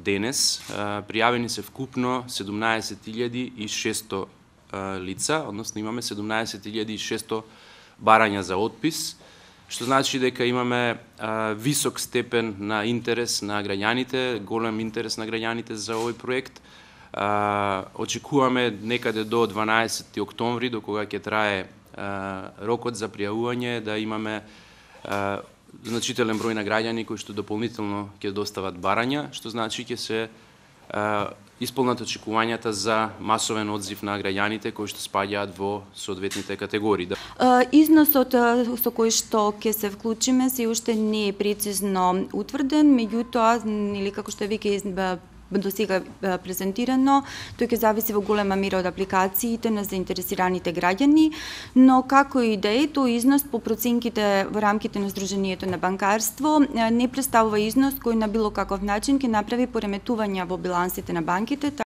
Денес пријавени се вкупно 17.600 лица, односно имаме 17.600 барања за отпис, што значи дека имаме висок степен на интерес на граѓаните, голем интерес на граѓаните за овој проект. Очекуваме некаде до 12 октомври, до кога ќе трае рокот за пријавување, да имаме значителен број на граѓани кои што дополнително ќе достават барања, што значи ќе се исполнат очекувањата за масовен одзив на граѓаните кои што спаѓаат во соодветните категории. Износот со кој што ќе се вклучиме се уште не е прецизно утврден, меѓутоа, или како што веќе до сега презентирано, тој ќе зависи во голема мера од апликациите на заинтересираните граѓани, но како и да е, тој износ по проценките во рамките на Сдруженијето на банкарство не представува износ кој на било каков начин ќе направи пореметувања во билансите на банките.